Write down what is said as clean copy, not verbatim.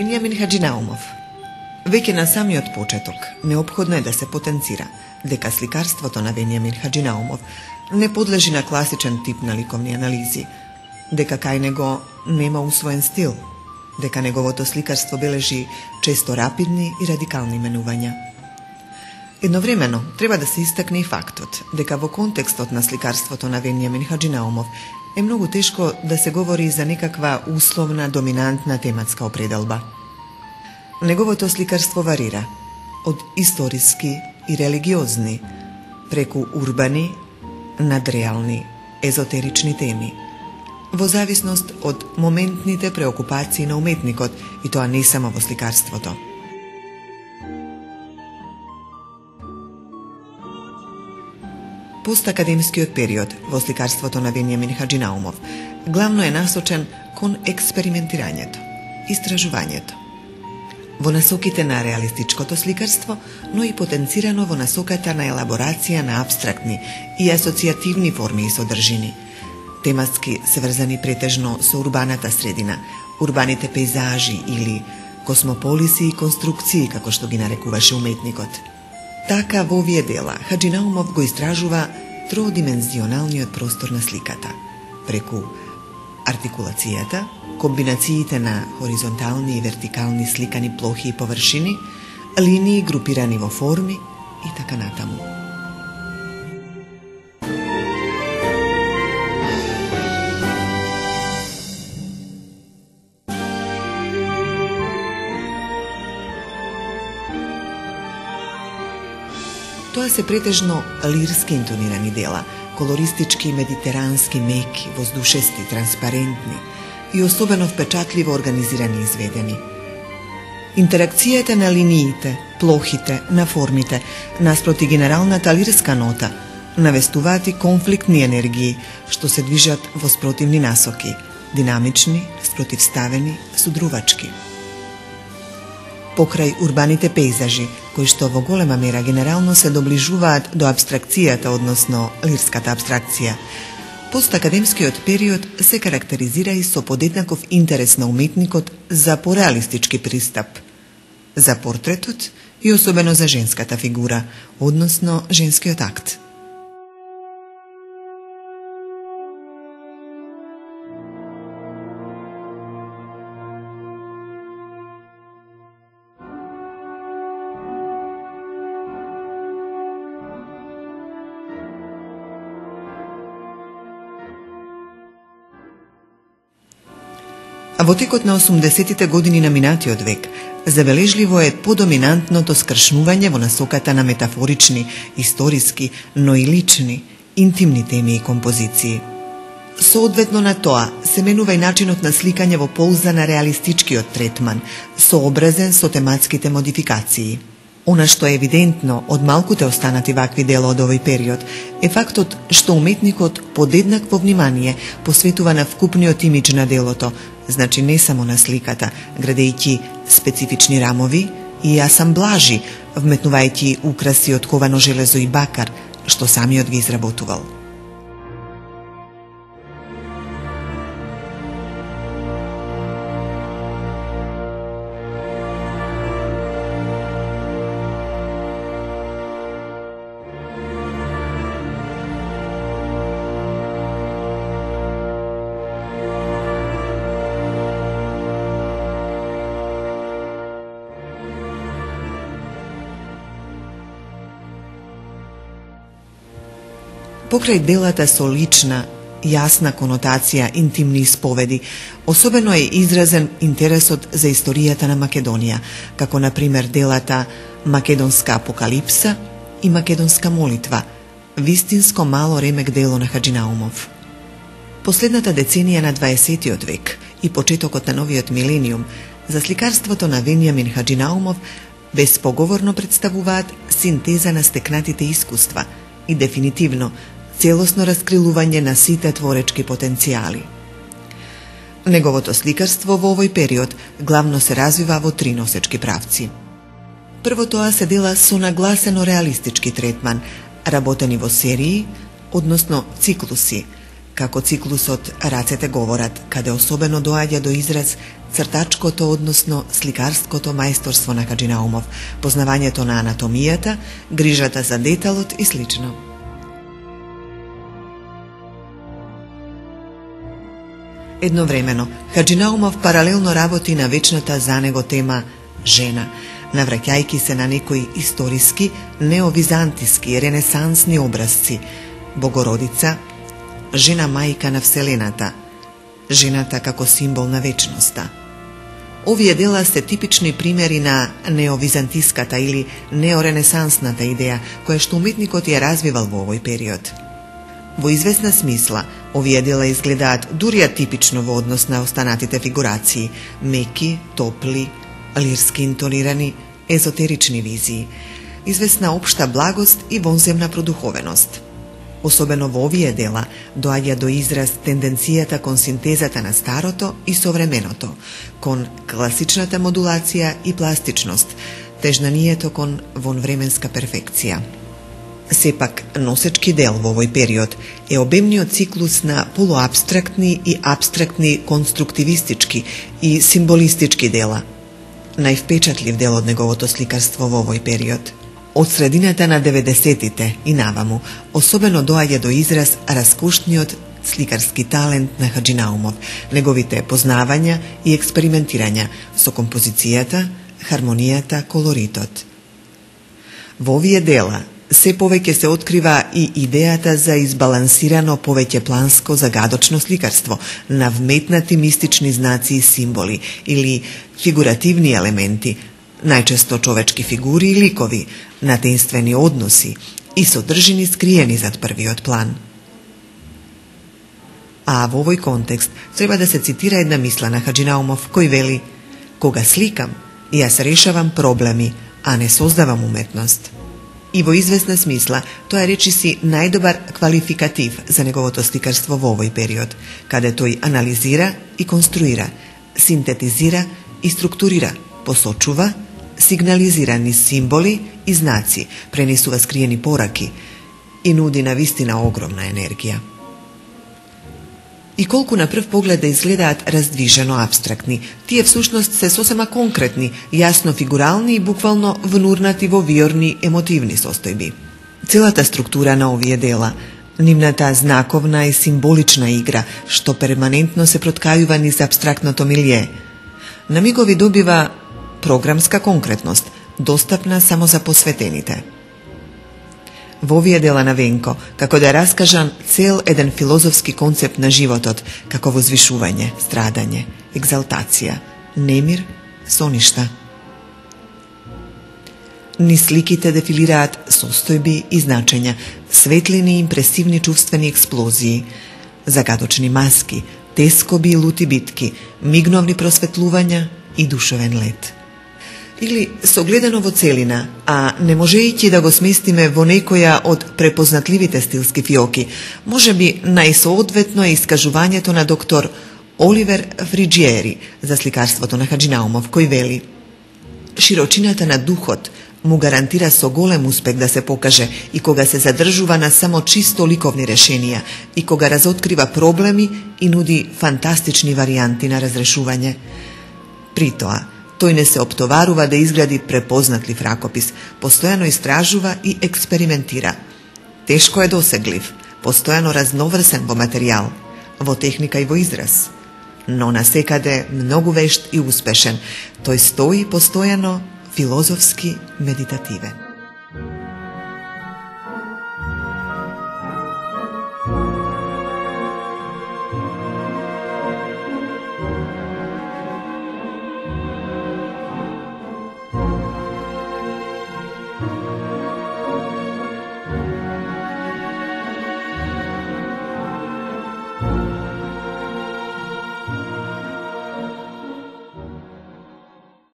Вениамин Хаџинаумов. Веќе на самиот почеток неопходно е да се потенцира дека сликарството на Вениамин Хаџинаумов не подлежи на класичен тип на ликовни анализи, дека кај него нема усвоен стил, дека неговото сликарство бележи често рапидни и радикални менувања. Едновремено треба да се истакне и фактот дека во контекстот на сликарството на Вениамин Хаџинаумов е многу тешко да се говори за некаква условна доминантна тематска определба. Неговото сликарство варира од историски и религиозни, преку урбани, надреални, езотерични теми, во зависност од моментните преокупации на уметникот, и тоа не само во сликарството. Постакадемскиот период во сликарството на Вениамин Хаџинаумов главно е насочен кон експериментирањето, истражувањето, во насоките на реалистичкото сликарство, но и потенцирано во насоката на елаборација на абстрактни и асоцијативни форми и содржини, тематски сврзани претежно со урбаната средина, урбаните пейзажи или космополиси и конструкции, како што ги нарекуваше уметникот. Така во овие дела Хаџинаумов го истражува троодимензионалниот простор на сликата, преку артикулацијата, комбинациите на хоризонтални и вертикални сликани плохи и површини, линии групирани во форми и така натаму. Тоа се претежно лирски интонирани дела, колористички, медитерански, меки, воздушести, транспарентни и особено впечатливо организирани и изведени. Интеракцијата на линиите, плохите, на формите, наспроти генералната лирска нота, навестуваат и конфликтни енергии, што се движат во спротивни насоки, динамични, спротивставени, судрувачки. Покрај урбаните пейзажи, кои што во голема мера генерално се доближуваат до абстракцијата, односно лирската абстракција, постакадемскиот период се карактеризира и со подеднаков интерес на уметникот за пореалистички пристап, за портретот и особено за женската фигура, односно женскиот акт. А во текот на 80-тите години на минатиот век, забележливо е подоминантното скршнување во насоката на метафорични, историски, но и лични, интимни теми и композиции. Соодветно на тоа се менува и начинот на сликање во полза на реалистичкиот третман, сообразен со тематските модификации. Она што е евидентно од малкуте останати вакви дела од овој период е фактот што уметникот подеднакво внимание посветува на вкупниот имидж на делото, значи не само на сликата, градејќи специфични рамови и асамблажи, вметнувајќи украси од ковано железо и бакар, што самиот ги изработувал. Покрај делата со лична, јасна конотација, интимни исповеди, особено е изразен интересот за историјата на Македонија, како на пример делата Македонска апокалипса и Македонска молитва, вистинско мало ремек дело на Хаџинаумов. Последната деценија на 20-тиот век и почетокот на новиот милениум за сликарството на Вениамин Хаџинаумов безпоговорно представуваат синтеза на стекнатите искуства и дефинитивно целосно раскрилување на сите творечки потенцијали. Неговото сликарство во овој период главно се развива во три носечки правци. Прво тоа се дела со нагласено реалистички третман, работени во серии, односно циклуси, како циклусот Рацете говорат, каде особено доаѓа до израз цртачкото, односно сликарското мајсторство на Хаџи Наумов, познавањето на анатомијата, грижата за деталот и слично. Едновремено, Хаџи Наумов паралелно работи на вечната за него тема жена, навраќајќи се на некои историски, неовизантиски, ренесансни образци: Богородица, жена мајка на Вселената, жената како символ на вечноста. Овие дела се типични примери на неовизантиската или неоренесансната идеја, која што уметникот ја развивал во овој период. Во известна смисла, овие дела изгледаат дури атипично во однос на останатите фигурации: меки, топли, лирски интонирани, езотерични визии, известна општа благост и вонземна продуховеност. Особено во овие дела доаѓа до израз тенденцијата кон синтезата на старото и современото, кон класичната модулација и пластичност, тежнанието кон вонвременска перфекција. Сепак, носечки дел во овој период е обемниот циклус на полуапстрактни и апстрактни конструктивистички и символистички дела. Највпечатлив дел од неговото сликарство во овој период. Од средината на 90-тите и наваму, особено доаѓа до израз раскошниот сликарски талент на Хаџи Наумов, неговите познавања и експериментирања со композицијата, хармонијата, колоритот. Во овие дела се повеќе се открива и идејата за избалансирано повеќепланско загадочно сликарство на вметнати мистични знаци и символи или фигуративни елементи, најчесто човечки фигури и ликови, натенствени односи и содржини скриени зад првиот план. А во овој контекст треба да се цитира една мисла на Хаџи Наумов, кој вели: "Кога сликам, јас решавам проблеми, а не создавам уметност." И во известна смисла, тоа е речиси најдобар квалификатив за неговото сликарство во овој период, каде тој анализира и конструира, синтетизира и структурира, посочува, сигнализира низ символи и знаци, пренесува скриени пораки и нуди на вистина огромна енергија. И колку на прв поглед да изгледаат раздвижено апстрактни, тие всушност се сосема конкретни, јасно фигурални и буквално внурнати во виорни емотивни состојби. Целата структура на овие дела, нивната знаковна и символична игра, што перманентно се проткајува низ апстрактното милје, на мигови добива програмска конкретност, достапна само за посветените. Во овие дела на Венко, како да е раскажан цел еден филозофски концепт на животот, како возвишување, страдање, екзалтација, немир, соништа. Ни сликите дефилираат состојби и значења, светлини и импресивни чувствени експлозии, загадочни маски, тескоби и лути битки, мигновни просветлувања и душевен лет. Или согледано во целина, а не можејќи да го сместиме во некоја од препознатливите стилски фиоки, можеби најсоодветно е искажувањето на доктор Оливер Фриџиери за сликарството на Хаџи Наумов, кој вели: "Широчината на духот му гарантира со голем успех да се покаже и кога се задржува на само чисто ликовни решенија и кога разоткрива проблеми и нуди фантастични варијанти на разрешување. При тоа, тој не се оптоварува да изгради препознатлив ракопис, постојано истражува и експериментира. Тешко е досеглив, постојано разноврсен во материјал, во техника и во израз, но насекаде многу вешт и успешен. Тој стои постојано филозофски медитативен."